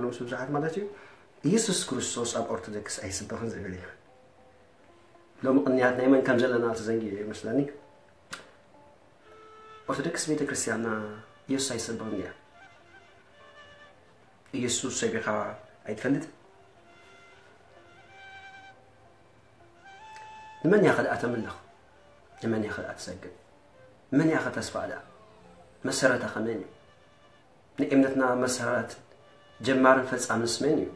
ምስ ብዙሓት ማለት እዩ። ኢየሱስ ክርስቶስ ኣብ ኦርቶዶክስ ኣይስበኽን ዝብል እዩ። ሎሚ ቅንያት ናይ መን ከም ዘለና ተዘንጊዑ እዩ መስለኒ። ኦርቶዶክስ ቤተ ክርስቲያንና ኢየሱስ ኣይሰበኽን እያ። ኢየሱስ ሰቢኻ ኣይትፈልጥ። ንመን እያ ከ ደኣ ተምልኽ? ንመን እያ ከ ደኣ ትሰግድ? ንመን እያ ከ ተስፋ ደኣ? መሰረታ ከመን እዩ? ንእምነትና መሰረት ጀማርን ፈጻምንስ መን እዩ?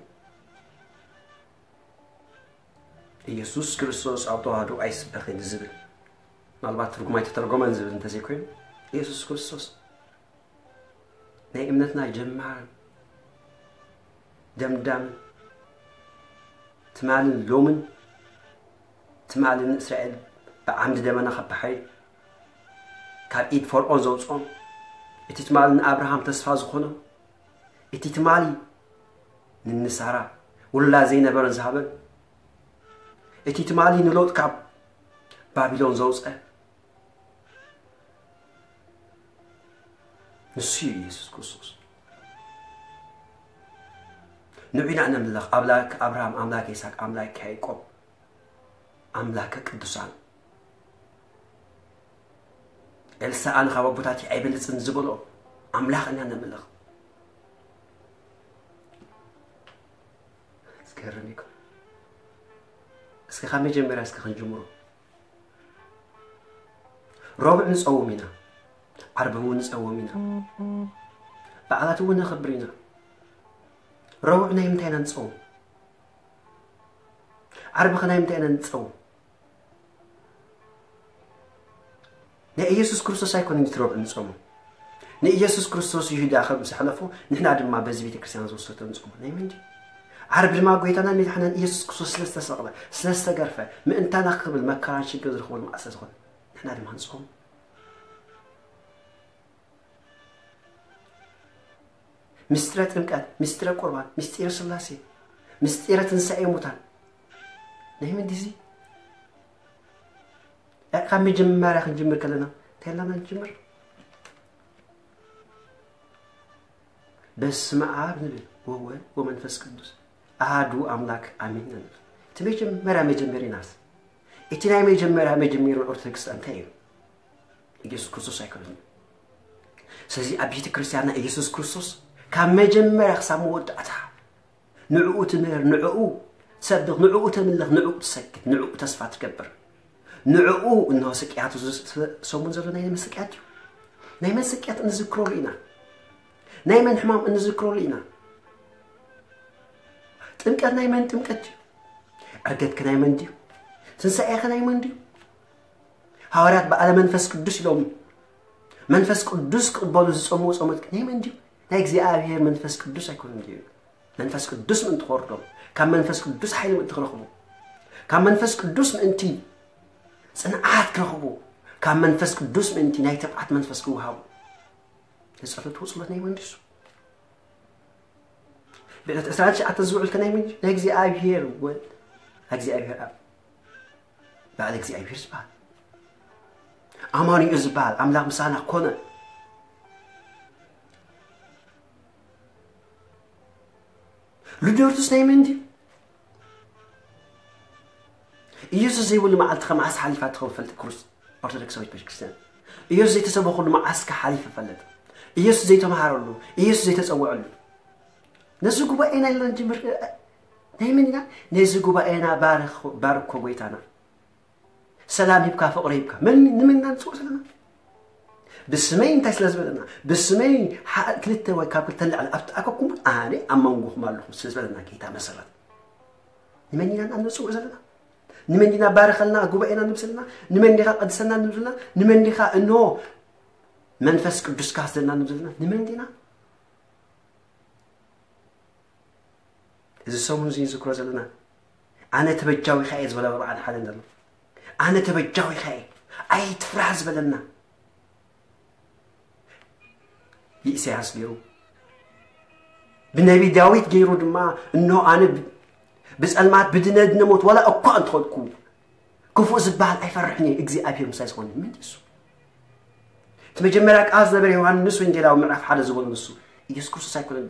ኢየሱስ ክርስቶስ ኣብ ተዋህዶ ኣይስበኽን ዝብል፣ ምናልባት ትርጉም ኣይተተርጎመን ዝብል እንተዘይኮይኑ፣ ኢየሱስ ክርስቶስ ናይ እምነትና ጀማርን ደምዳምን፣ ትማልን ሎምን፣ ትማሊ ንእስራኤል ብዓምዲ ደመና ካብ ባሕሪ፣ ካብ ኢድ ፈርዖን ዘውፅኦም፣ እቲ ትማሊ ንኣብርሃም ተስፋ ዝኾኖም፣ እቲ ትማሊ ንንሳራ ውላ ዘይነበረን ዝሃበን፣ እቲ ትማሊ ንሎጥ ካብ ባቢሎን ዘውፀ፣ ንሱ እዩ ኢየሱስ ክርስቶስ። ንዑ ኢና ነምልኽ፣ ኣምላክ ኣብርሃም፣ ኣምላክ ይስሐቅ፣ ኣምላክ ያዕቆብ፣ ኣምላክ ቅዱሳን። ኤልሳ ኣነ ካብ ኣቦታትይ ኣይበልጽን ዝበሎ ኣምላኽ ኢና ነምልኽ። ዝገርም እዩ። እስኪ ካብ መጀመርያ እስኪ ክንጅምሮ። ረቡዕ ንጸውም ኢና፣ ዓርቢ እውን ንጸውም ኢና፣ በዓላት እውን ነኽብር ኢና። ረቡዕ ናይ ምንታይ ኢና ንጸውም? ዓርቢ ከ ናይ ምንታይ ኢና ንጸውም? ናይ ኢየሱስ ክርስቶስ ኣይኮነን እቲ ረቡዕ ንጸውሞ። ንኢየሱስ ክርስቶስ ይሁዳ ከም ዝሕለፎ ንሕና ድማ በዚ ቤተ ክርስቲያን ዝወሰቶ ንጸውሞ። ናይ መን ድዩ? ዓርቢ ድማ ጎይታና መድሓናን ኢየሱስ ክርስቶስ ስለ ዝተሰቕለ፣ ስለ ዝተገርፈ፣ ምእንታና ክብል መከራን ሽግር ዝረኽበሉ መዓልቲ ስለ ዝኾነ ንሕና ድማ ንጸውሞ። ምስጢረ ጥምቀት፣ ምስጢረ ቁርባን፣ ምስጢረ ስላሴ፣ ምስጢረ ትንሳኤ ሙታን ናይ መን ድዩ እዚ? ካብ መጀመርያ ክንጅምር ከለና እንታይ ኢልና ንጅምር? በስመ ኣብ ንብል ወወልድ ወመንፈስ ቅዱስ ኣሃዱ ኣምላክ ኣሜን ንብል። እቲ መጀመርያ መጀመሪናስ፣ እቲ ናይ መጀመርያ መጀመሪ ኦርቶዶክስ እንታይ እዩ? ኢየሱስ ክርስቶስ ኣይኮነን። ስለዚ ኣብ ቤተ ክርስቲያንና ኢየሱስ ክርስቶስ ካብ መጀመርያ ክሳብ መወዳእታ ንዕኡ ትምህር፣ ንዕኡ ትሰብኽ፣ ንዕኡ ተምልኽ፣ ንዕኡ ትሰግድ፣ ንዕኡ ተስፋ ትገብር። ንዕኡ እንሆ ስቅያቱ እዚ ሰሙን ዘሎ ናይ መን ስቅያት እዩ? ናይ መን ስቅያት እንዝክረሉ ኢና? ናይ መን ሕማም እንዝክረሉ ኢና? ጥምቀት ናይ መን ጥምቀት እዩ? ዕርገትከ ናይ መን ድዩ? ትንሳኤኸ ናይ መን ድዩ? ሃዋርያት በዓለ መንፈስ ቅዱስ ኢሎም መንፈስ ቅዱስ ክቕበሉ ዝጸምዎ ጾመት ናይ መን ድዩ? ናይ እግዚኣብሔር መንፈስ ቅዱስ ኣይኮነን ድዩ? መንፈስ ቅዱስ ምእንቲ ክወርዶም፣ ካብ መንፈስ ቅዱስ ሓይሊ ምእንቲ ክረኽቡ፣ ካብ መንፈስ ቅዱስ ምእንቲ ጽንዓት ክረኽቡ፣ ካብ መንፈስ ቅዱስ ምእንቲ ናይ ትብዓት መንፈስ ክወሃቡ። ንጸሎት ጸሎት ናይ መን ድዩ? ብዕለት ዕስራን ትሽዓተን ዝውዕል ከ ናይ መን እዩ? ናይ እግዚኣብሔር ወልድ፣ ናይ እግዚኣብሔር ኣብ፣ በዓል እግዚኣብሔር ዝበሃል፣ ኣማኑኤል ዝበሃል ኣምላኽ ምሳና ኮነ። ልደቱስ ናይ መን ድዩ? ኢየሱስ ዘይብሉ መዓልቲ ከመዓስ ሓሊፋ ትኸውን ፈልጥ ክርስ-፣ ኦርቶዶክሳዊት ቤተክርስትያን። ኢየሱስ ዘይተሰበኹሉ መዓስ ከ ሓሊፈ ፈልጥ? ኢየሱስ ዘይተምሃረሉ፣ ኢየሱስ ዘይተጸውዐሉ። ነዚ ጉባኤና ኢልና ንጅምር፣ ናይ መን ኢና? ነዚ ጉባኤና ባርኽ-፣ ባርኮ ጎይታና። ሰላም ሂብካ፣ ፍቕሪ ሂብካ። መን፣ ንመን ኢና ንጽውዕ ዘለና? ብስመይ እንታይ ስለ ዝበለና? ብስመይ ሓ-፣ ክልተ ወይ ካብ ክልተ ንላዕሊ ኣብ ተኣከብኩም ኣነ ኣብ መንጎኹም ኣለኹ ስለ ዝበለና ጌታ መሰረት። ንመን ኢና ንጽውዕ ዘለና? ንመን ዲና ባርኸልና ጉባኤና ንብል ዘለና? ንመን ዲኻ ቀድሰና ንብል ዘለና? ንመን ዲኻ እንሆ መንፈስ ቅዱስካ ስደና ንብል ዘለና? ንመን ዲና? እዚ ሰሙን እዚ ንዝክሮ ዘለና፣ ኣነ ተበጃዊኻ እየ ዝበለ ብርሃን ሓደ ዘሎ። ኣነ ተበጃዊኻ እየ፣ ኣይትፍራህ ዝበለና። ብኢሳያስ ገይሩ፣ ብነቢ ዳዊት ገይሩ ድማ፣ እንሆ ኣነ ብ-፣ ብጸልማት ብድነ ድነ ሞት፣ ዋላ እኳ እንተኸድኩ፣ ክፉእ ዝበሃል ኣይፈርሕን እየ፣ እግዚኣብሔር ምሳይ ዝኾነ። መን እዩ እሱ? እቲ መጀመርያ ቃል ዝነበረ ዮሃንስ ወንጌላዊ ምዕራፍ ሓደ ዝበሎ ንሱ፣ ኢየሱስ ክርስቶስ ኣይኮነን?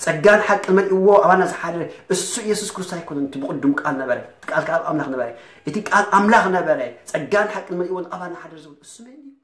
ጸጋን ሓቅን መሊእዎ ኣባና ዝሓድር እሱ ኢየሱስ ክርስቶስ ኣይኮነን? እቲ ብቕዱም ቃል ነበረ፣ እቲ ቃል ከኣ ኣብ ኣምላኽ ነበረ፣ እቲ ቃል ኣምላኽ ነበረ። ጸጋን ሓቅን መሊእዎ ኣባና ሓድር ዝብል እሱ መን እዩ?